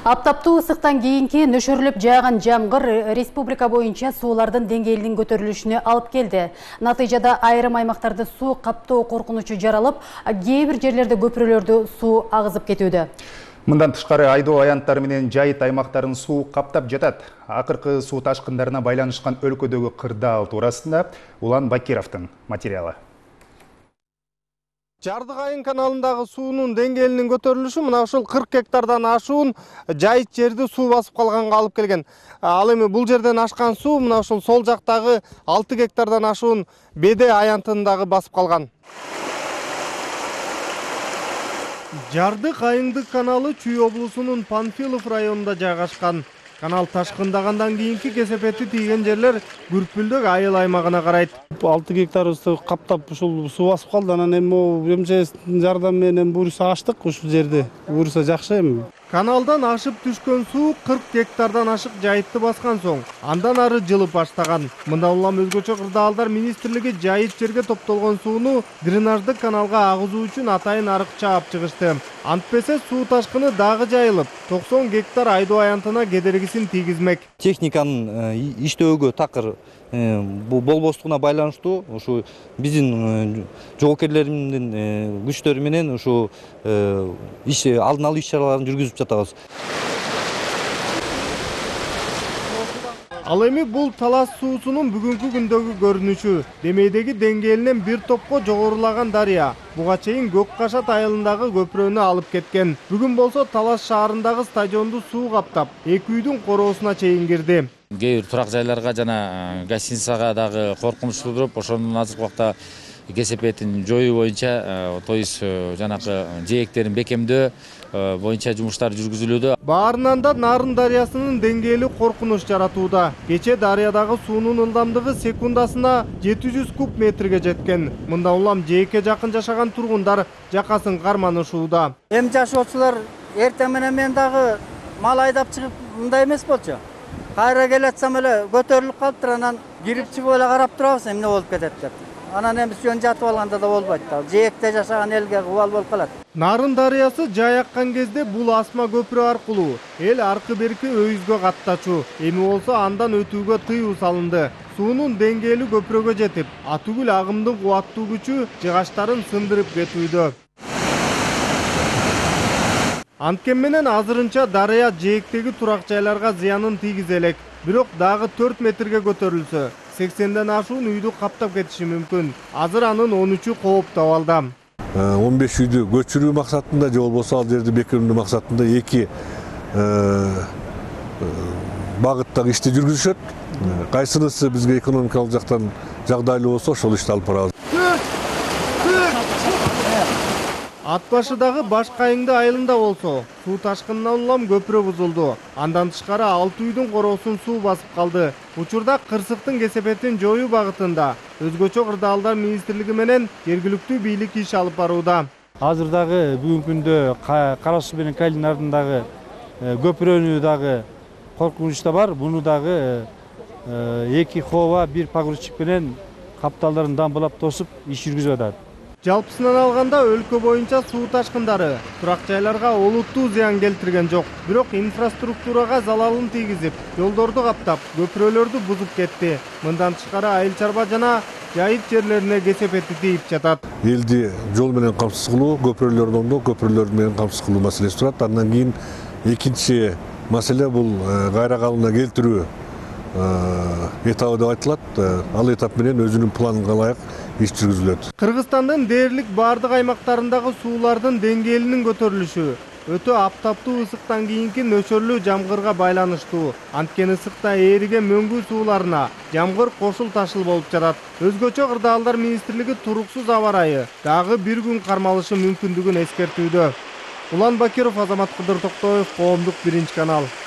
Аптаптуу ысыктан кийинки нөшөрлөп жааган жамгыр республика боюнча суулардын деңгээлинин көтөрүлүшүнө алып келди. Натыйжада айрым аймактарды суу каптоо коркунучу жаралып, кээ бир жерлерде көпүрөлөрдү суу агызып кетүүдө. Мындан тышкары айдоо аянттары менен жайыт аймактарын суу каптап жатат. Акыркы суу ташкындарына байланышкан өлкөдөгү кырдаал туурасында Улан Бакировдун материалы. Жардык айын каналындагы суунун деңгээлинин көтөрүлүшү мына ушул 40 гектардан ашуун жайыт жерди суу басып калганга алып келген. Ал эми бул жерден ашкан суу мына ушул сол жактагы 6 гектардан ашуун Беде аянтындагы басып калган. Жардык айыңдык каналы Чүй облусунун Панфилов районунда жайгашкан. Канал ташкындагандан кийинки кесепети тийген жерлер Күрпүлдүк айыл аймагына карайт. 6 гектарыбызды каптап ушул суу басып калды. Анан эми МЧСтин жардамы менен буюрса ачтык ушул жерди. Буюрса жакшы эми. Каналдан ашып түшкөн суу 40 гектардан ашык жайытты баскан соң, андан ары жылып баштаган. Мындан улам өзгөчө кырдаалдар министрлиги жайыт жерге топтолгон сууну дренаждык каналга агызуу үчүн атайын арык чаап чыгышты. Антпесе суу ташкыны дагы жайылып, 90 гектар айдоо аянтына кедергисин тийгизмек. Техниканын иштөөгө такыр болбостугуна байланыштуу ушу биздин жоокерлердин күчтөрү менен ушу алдын алуу иш-чараларын жүргүзүп жатабыз. Ал эми бул талас суусунун бүгүнкү күндөгү көрүнүшү. Демейдеги деңгээлинен бир топко жогорулаган дарыя буга чейин Көк Кашат айылындагы көпүрөнү алып кеткен. Бүгүн болсо Талас шаарындагы стадионду суу каптап, эки үйдүн короосуна чейин кирди. Кээ бир турак жайларга жана гостиницага дагы коркунуч туудуруп, ошонун азыркы убакта кесепетин жоюу боюнча, то есть жанакы жээктерин бекемдөө боюнча жумуштар жүргүзүлүүдө. Баарынан да Нарын дарыясынын деңгээли коркунуч жаратууда. Кече дарыядагы суунун ылдамдыгы секундасына 700 куб метрге жеткен. Мындан улам жээкке жакын жашаган тургундар жакасын карманышууда. Эми жашоочулар эртең менен мен дагы мал айдап чыгып мындай эмес болчу. Кайра келатсам эле көтөрүлүп калыптыр, анан кирип чыгып эле карап турабыз, эмне болуп кетет деп. Анан эми жөн жатып алганда да болбойт да. Жээкте жашаган элге кубал болуп калат. Нарын дарыясы жай аккан кезде бул асма көпүрө аркылуу эл аркы берки өйүзгө каттачу. Эми болсо андан өтүүгө тыюу салынды. Суунун деңгээли көпүрөгө жетип, атүгүл агымдын кубаттуу күчү жыгачтарын сындырып кетүүдө. Анткени менен азырынча дарыя жээктеги турак жайларга зыянын тийгизе элек. Бирок дагы 4 метрге көтөрүлсө, 80ден ашуун үйдү каптап кетиши мүмкүн. Азыр анын 13-ü кооптуу абалда. 15 үйдү көчүрүү максатында же болбосо ал жерди бекемдөө максатында эки багыттагы ишти жүргүзүшөт. Кайсынысы бизге экономикалык жактан жагдайлуу болсо ошол ишти алып барабыз. Ат башыдагы Башкайыңды айылында болсо, суу ташкынынан улам көпүрө бузулду. Андан тышкары 6 үйдүн коросун суу басып калды. Учурда кырсыктын кесепетин жоюу багытында өзгөчө кырдаалдар министрлиги менен жергиликтүү бийлик иш алып барууда. Азыр дагы бүгүнкү күндө Кара суу менен Калин ардындагы көпүрөнү дагы коркунучта бар. Буну дагы эки хова, бир погрузчик менен капталдарын дамбылап тосуп иш жүргүзүп атат. Жалпысынан алганда өлкө боюнча суу ташкындары турак жайларга олуттуу зыян келтирген жок. Бирок инфраструктурага залалын тийгизип, жолдорду каптап, көпүрөлөрдү бузуп кетти. Мындан тышкары айыл чарба жана жайыт жерлерине кесепети тийип жатат. Элди жол менен камсыз кылуу, көпүрөлөрдү оңдоо, көпүрөлөр менен камсыз кылуу маселеси турат. Андан кийин экинчи маселе бул кайра калыбына келтирүү этабы деп айтылат. Ал этап менен өзүнүн планына ылайык иш жүргүзүлөт. Кыргызстандын дээрлик бардык аймактарындагы суулардын деңгээлинин көтөрүлүшү өтө аптаптуу ысыктан кийинки нөчөрлүү жамгырга байланыштуу. Анткени ысыкта ээриген мөңгү сууларына жамгыр кошул ташыл болуп жатат. Өзгөчө кырдаалдар министрлиги туруксуз аба ырайы дагы бир күн кармалышы мүмкүндүгүн эскертүүдө. Улан Бакиров, Азамат Кыдыр Токтоев, Коомдук 1 канал.